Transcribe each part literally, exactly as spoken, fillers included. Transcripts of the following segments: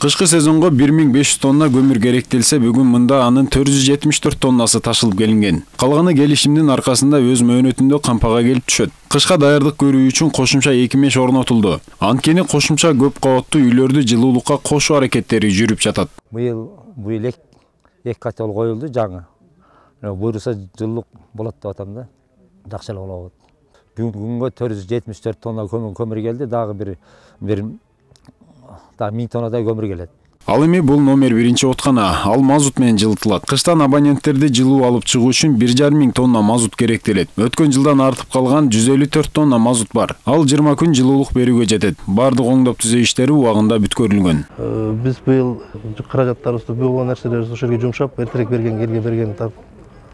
Кышкы сезонго бир миң беш жүз тонна көмүр керектелсе, бүгүн мында анын төрт жүз жетимиш төрт тоннасы ташылып келинген. Калганы келишимдин аркасында өз мөөнөтүндө кампага келип түшөт. Кышка даярдык көрүү үчүн кошумча эки меш орнотулду. Анткени кошумча көп кабаттуу үйлөрдү жылуулукка кошуу аракеттери жүрүп жатат. Быйыл бул элек эки котел коюлду жаңы. Буюрса жылуулук болот деп атам да. Жакшы эле болот. Бүгүнкү күнгө төрт жүз жетимиш төрт тонна көмүр келди, дагы бир бир да миң тоннадай көмүр келет. Ал эми бул номер биринчи откана, ал мазут менен жылытылат. Кыштан абоненттерди жылуу алып чыгуу үчүн бир жарым миң тонна мазут керектелет. Өткөн жылдан артып калган жүз элүү төрт тонна мазут бар. Ал жыйырма күн жылуулук берүүгө жетет. Бардык оңдоп түзөө иштери убагында бүткөрүлгөн. Биз быйыл каражаттарыбызды болгон нерселерибизди ошол жерге жумшап, эртерээк берген, элге берген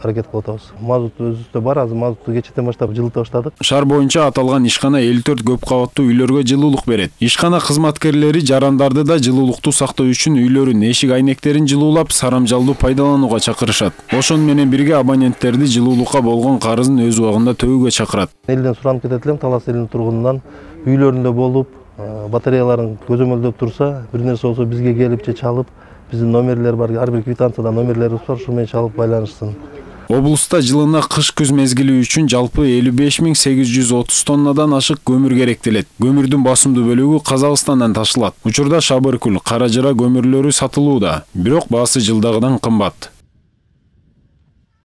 аракет кылып атабыз. Мазут өзүбүздө бар, азыр мазутту кечээден баштап жылыта баштадык. Шаар боюнча аталган ишкана элүү төрт көп кабаттуу үйлөргө жылуулук берет. Ишкана кызматкерлери жарандарды да жылуулукту сактоо үчүн үйлөрүн, эшик айнектерин жылуулап, сарамжалдуу пайдаланууга чакырышат. Ошону менен бирге абоненттерди жылуулукка болгон карызын өз убагында төөгө чакырат. Элден суранып кетет элем, Талас элинин тургунунан үйлөрүндө болуп, батареяларын көзөмөлдөп турса, бир нерсе болсо бизге келип же чалып, биздин номерлер бар, ар бир квитанцияда номерлерибиз бар, ушу менен чалып байланышсын. Облуста жылына кыш-күз мезгили үчүн жалпы элүү беш миң сегиз жүз отуз тоннадан ашык көмүр керектелет. Көмүрдүн басымдуу бөлүгү Казакстандан ташылат. Учурда Шабыркөл, Кара Жыра көмүрлөрү сатылууда, бирок баасы жылдагыдан кымбат.